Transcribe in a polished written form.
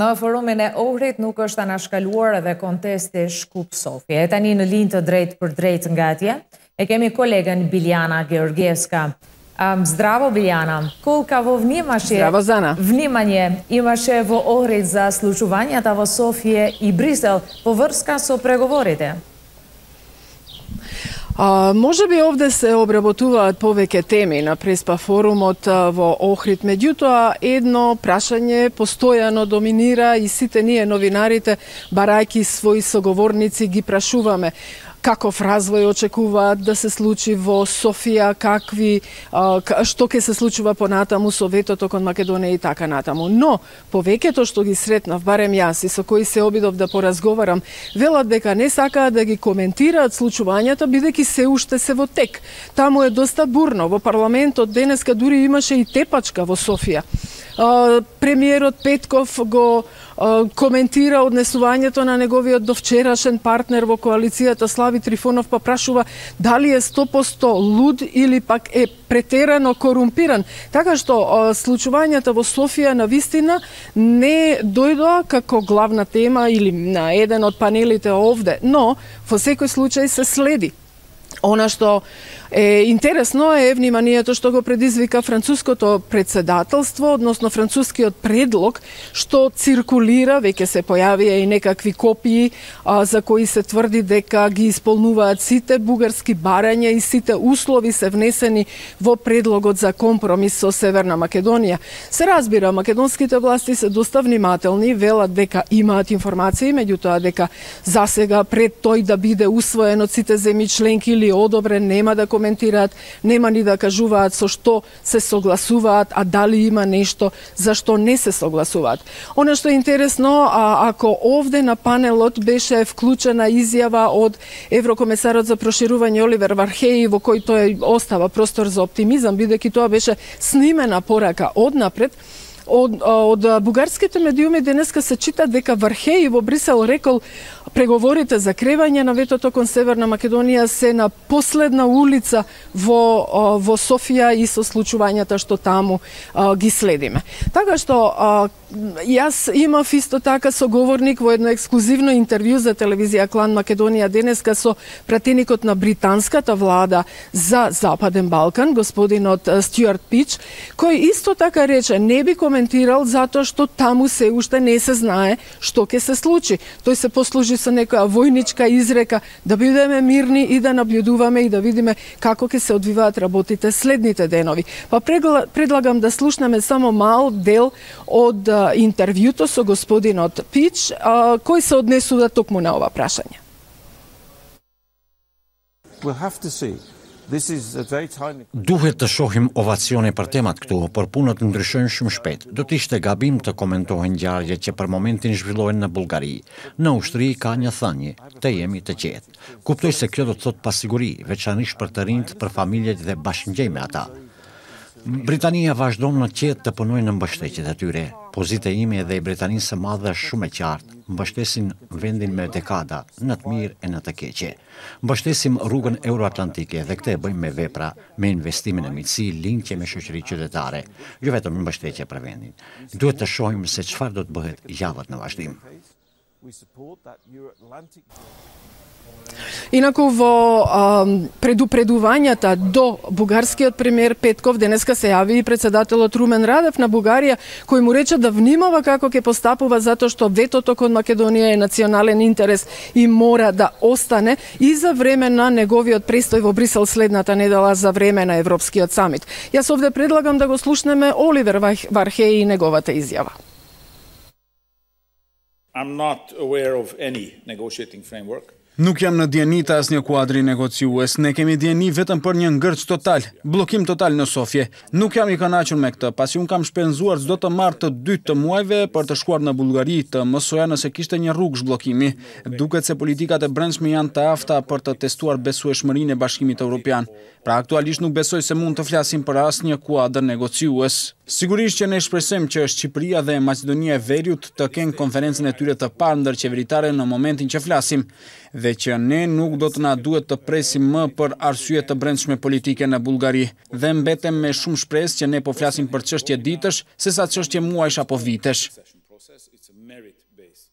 Në forumin e Ohrit nuk është anashkaluar edhe kontesti Shkup-Sofje. E tani në linjë të drejt për drejt nga atje, e kemi kolegën Biljana Georgievska. Zdravo Biljana, kolka vo vnimaš je... Zdravo Zana. Vнимanje imaš je vo Ohrid za slučuvanja vo Sofije i Brisel, поврска со преговорите? Може би овде се обработуваат повеќе теми на Преспа форумот во Охрид, меѓутоа едно прашање постојано доминира и сите ние новинарите, барајќи своји соговорници, ги прашуваме каков развој очекуваат да се случи во Софија, што ќе се случува понатаму со ветото кон Македонија и така натаму. Но, повеќето што ги сретнав, барем јас и со кои се обидов да поразговарам, велат дека не сакаат да ги коментираат случувањата, бидејќи се уште се во тек. Таму е доста бурно. Во парламентот денеска дури имаше и тепачка во Софија. Премиерот Петков го коментира однесувањето на неговиот довчерашен партнер во коалицијата Слави Трифонов, па прашува дали е 100% луд или пак е претерано корумпиран. Така што случувањата во Софија на вистина не дојдоа како главна тема или на еден од панелите овде, но во секој случај се следи. Она што е интересно е вниманието што го предизвика француското председателство, односно францускиот предлог што циркулира, веќе се појавија и некакви копии за кои се тврди дека ги исполнуваат сите бугарски барања и сите услови се внесени во предлогот за компромис со Северна Македонија. Се разбира, македонските власти се доста внимателни, велат дека имаат информации, меѓутоа дека засега пред тој да биде усвоен од сите земји членки или одобрен, нема да коментираат, нема ни да кажуваат со што се согласуваат, а дали има нешто за што не се согласуваат. Оно што е интересно, ако овде на панелот беше вклучена изјава од еврокомесарот за проширување Оливер Вархеи, во кој тој остава простор за оптимизам, бидејќи тоа беше снимена порака однапред, од бугарските медиуми денеска се чита дека Вархеи во Брисел рекол преговорите за кревање на ветото кон Северна Македонија се на последна улица во Софија и со случувањата што таму ги следиме. Така што јас имав исто така соговорник во едно ексклузивно интервју за телевизија Клан Македонија денеска со пратеникот на британската влада за Западен Балкан, господинот Стюарт Пич, кој исто така рече не би коментирал затоа што таму се уште не се знае што ќе се случи. Тој се послужи со некоја војничка изрека да бидеме мирни и да наблюдуваме и да видиме како ќе се одвиваат работите следните денови. Па предлагам да слушнеме само мал дел од интервјуто со господинот Пич, кој се однесува токму на ова прашање. Duhet të shohim ovacione për temat këtu, por punët ndryshojnë shumë shpejt. Do të ishte gabim të komentohen ngjarje që për momentin zhvillohen në Bullgari. Në ushtri ka një thënie, të jemi të qetë. Kuptoj se kjo do të thotë pasiguri, veçanërisht për të rinjt, për familjet dhe bashkëngjej me ata. Britania vazhdon në qetë të punojë në mbështetjet e tyre. Pozita ime dhe i Britanisë së Madhe është shumë e qartë. Mbështesin vendin me dekada, në të mirë e në të keqe. Mbështesim rrugën euroatlantike dhe këtë e bëjmë me vepra, me investimin e miqësi, linkje me shoqëri qytetare, jo vetëm mbështetje për vendin. Duhet të shohim se çfarë do të bëhet javët në vazhdim. Инаку во предупредувањата до бугарскиот премиер Петков денеска се јави и председателот Румен Радев на Бугарија, кој му рече да внимава како ќе постапува затоа што ветото кон Македонија е национален интерес и мора да остане и за време на неговиот престој во Брисел следната недела за време на Европскиот самит. Јас овде предлагам да го слушнеме Оливер Вархеи и неговата изјава. I'm not aware of any negotiating framework. Nuk jam në dieni të asnjë kuadri negociues, ne kemi dieni vetëm për një ngërç total, bllokim total në Sofje. Nuk jam i kënaqur me këtë, pasi un kam shpenzuar çdo të marr të dytë të muajve për të shkuar në Bullgari, të mësoja nëse kishte një rrugë zhbllokimi. Duket se politikat e brendshme janë të afta për të testuar besueshmërinë e Bashkimit Evropian. Pra aktualisht nuk besoj se mund të flasim për asnjë kuadër negociues. Sigurisht që ne shpresojmë që Shqipëria dhe Maqedonia e Veriut të kenë konferencën e tyre të parë ndërqeveritare në momentin që flasim, dhe që ne nuk do të na duhet të presim më për arsye të brendshme politike në Bullgari, dhe mbetem me shumë shpresë që ne po flasim për çështje ditësh, sesa çështje muajsh apo vitesh. process. It's a merit-based